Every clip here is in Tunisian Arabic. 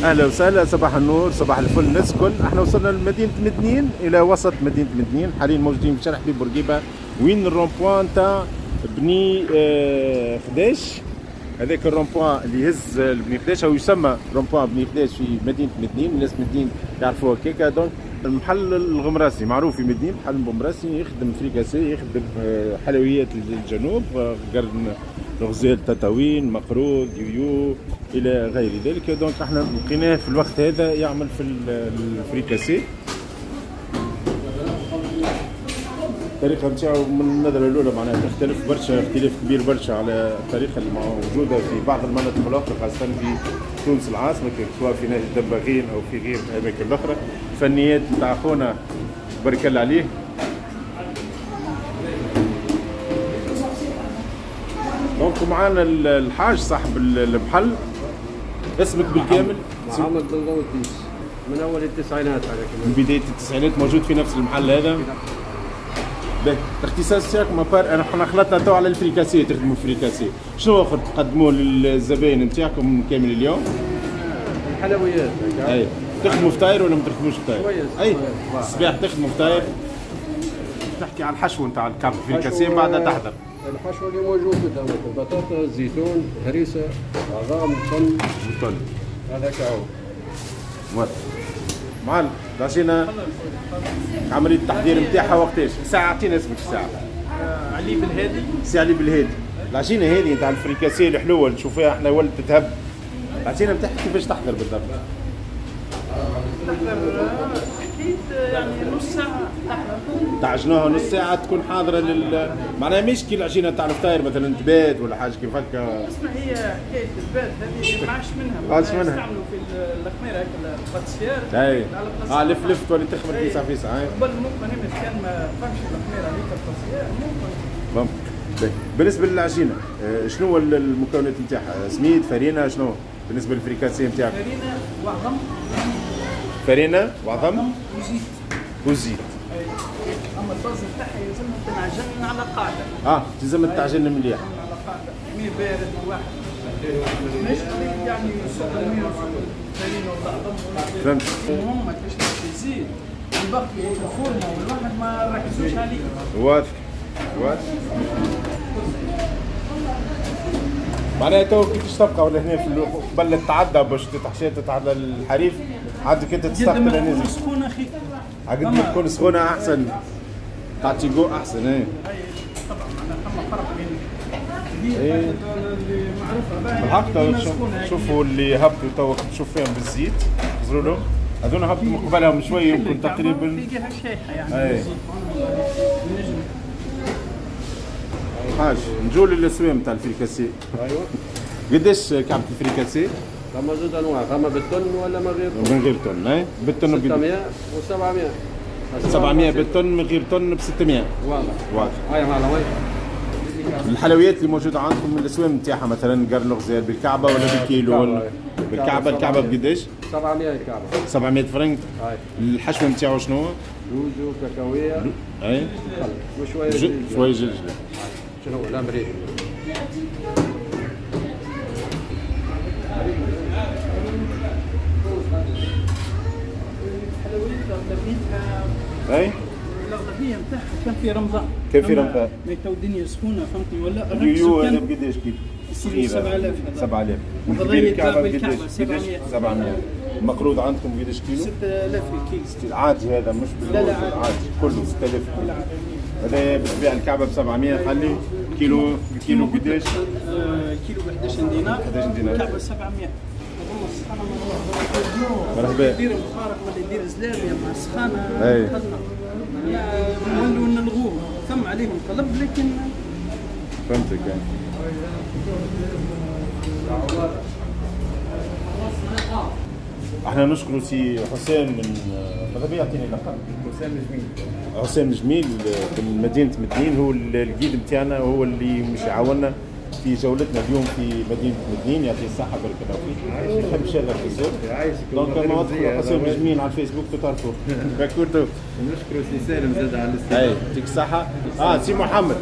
اهلا وسهلا، صباح النور، صباح الفل الناس الكل. احنا وصلنا لمدينة مدنين، الى وسط مدينة مدنين. حاليا موجودين في شارع حبيب بورقيبة، وين ال rond-point تاع بني خداش. هذاك ال rond-point اللي يهز بني خداش او يسمى rond-point بني خداش في مدينة مدنين، الناس مدنين يعرفوها كيكا. donc المحل الغمراسي معروف في مدنين، محل الغمراسي يخدم فريكاسي، يخدم حلويات الجنوب، قرن الغزال، تطاوين، مقروض، يويو الى غير ذلك. donc احنا لقيناه في الوقت هذا يعمل في الفريكاسي. الطريقة نتاعو من النظرة الاولى معناها تختلف برشا، اختلاف كبير برشا على الطريقة اللي موجودة في بعض المناطق الاخرى، خاصة في تونس العاصمة، سواء في نهج الدباغين او في غير الاماكن الاخرى. الفنيات نتاع خونا بارك الله عليه. donc معانا الحاج صاحب المحل. اسمك بالكامل؟ محمد بن غوتيس، من اول التسعينات. على من بداية التسعينات موجود في نفس المحل هذا. باهي، الاختصاص تاعكم à part احنا خلطنا تو على الفريكاسي، تخدموا فريكاسي، شنو اخر تقدموه للزباين نتاعكم كامل اليوم؟ الحلويات. اي تخدموا فطاير ولا ما تخدموش فطاير؟ اي الصباح تخدموا فطاير. تحكي على الحشو نتاع الكعب فريكاسي من بعد تحضر. الحشو اللي موجود قدامك البطاطا، الزيتون، هريسه، عظام، طن. طن. هذاك هو. واضح. معلم، العجينة عملية التحضير نتاعها وقتاش؟ ساعة، اعطينا اسمك الساعة. علي بالهادي. سي علي بالهادي. العجينة هذه نتاع الفريكاسي الحلوة اللي تشوفوها احنا ولت تتهب. العجينة نتاعها كيفاش تحضر بالضبط؟ تحضر اكيد يعني نص ساعة تحضر. تعجنوها نص ساعة تكون حاضرة لل معناها مش كي العجينة تاع الفطاير مثلا تبات ولا حاجة كيف هكا. اسمع، هي حكاية البات هذه ما عادش منها، ما عادش منها. يستعملوا في الخميرة هكا ال pâtissière. اي لف لف تولي تخمر فيسع فيسع. قبل ممكن كان ما فهمش الخميرة هذيك ال pâtissière ممكن. بالنسبة للعجينة شنو هو المكونات نتاعها؟ سميد، فرينة، شنو بالنسبة للفريكاسي نتاعك؟ فرينة وعظم. فرينة وعظم وزيت. وزيت. اما ال base نتاعها يلزمها تنعجن على قاعدة. لازم تعجن مليح. على قاعدة، مي بارد واحد. مش قضية يعني سكر مي فرينة ولا عظم. فهمت. المهم ما تشربش الزيت والباقي الفورمة والواحد ما ركزوش عليه. واضح واضح. معناها تو كيفاش تبقى ولا هنا في قبل تتعدى باش تتحشي تتعدى الحريف عندك انت تستقبل الناس. سخونة اخي. قد ما تكون سخونة احسن، تعطي جو احسن. اي طبعا معناها ثم فرق بين اللي معروفة بالحق. شوفوا اللي هبطوا تو تشوف فيهم بالزيت، خزروا لهم هذول هبطوا من قبلهم شوية يمكن تقريبا فيها شايحه يعني. الزيت حاج نجو للاسوام تاع الفريكاسي. ايوه قداش كعبة الفريكاسي؟ ثم زوج انواع، ثم بالطن ولا من غير طن؟ من غير طن. اي بالطن 600 و700. 700 بالطن، من غير طن ب 600. واضح واضح. هاي معلم. الحلويات اللي موجودة عندكم من الاسوام نتاعها مثلا قرن الغزال بالكعبة ولا بالكيلو ولا بالكعبة؟ الكعبة بقداش؟ 700 الكعبة. 700 فرنك. الحشو نتاعو شنو؟ لوز وكاكاويه. اي وشوية شوية جلجله. شنو هو؟ الامريكي. الحلويات اغلبيتها اي الاغلبية نتاعها كان في رمضان. كان في رمضان. mais تو الدنيا سخونة فهمتني ولا؟ اليويو هذا بقداش كيلو؟ 7000. 7000. والكبير الكعبة بقداش؟ 700. المقروض عندكم قداش كيلو؟ 6000 الكيلو. عادي هذا مش لا لا عادي كله 6000 كيلو. هذا بتبيع الكعبة ب 700 خلي كيلو الكيلو قداش؟ كيلو ب 11 دينار. 11 دينار. الكعبة 700. مرحبا. يدير مخارق ولا يدير زلابيه مع السخانه. اي. نولوا نلغوه، ثم عليهم طلب لكن فهمتك يعني. احنا نشكر سي حسام من ماذا بيا يعطيني لقب؟ حسام جميل. حسام جميل من مدينة مدنين، هو ال guide نتاعنا، هو اللي مش يعاوننا في جولتنا اليوم في مدينة مدنين. يعطيه الصحة، بارك الله فيك. نحب شغل في الزور. donc ما تدخلوا حسام جميل على الفيسبوك تعرفوه. d'accord. ونشكروا سي سالم زاد على الاستضافة. اي يعطيك الصحة. سي محمد،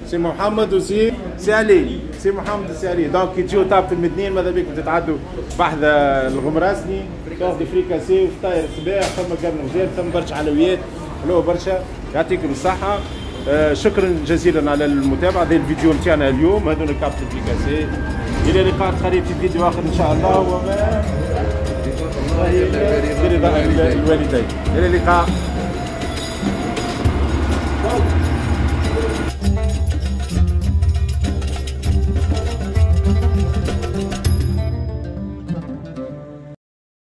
سي محمد وسي سي علي، سي محمد وسي علي. donc كي تجيو تهبطوا المدنين ماذا بيكم تتعدوا بحذا الغمراسني، تاخذوا فريكاسي وفطاير الصباح، ثم قرن غزال، ثم برشا حلويات حلوة برشا. يعطيكم الصحة. شكرا جزيلا على المتابعة. هذا الفيديو نتاعنا اليوم، هذول كابت الفريكاسي. الى لقاء قريب في فيديو اخر ان شاء الله، وما برضا الوالدين. الى اللقاء.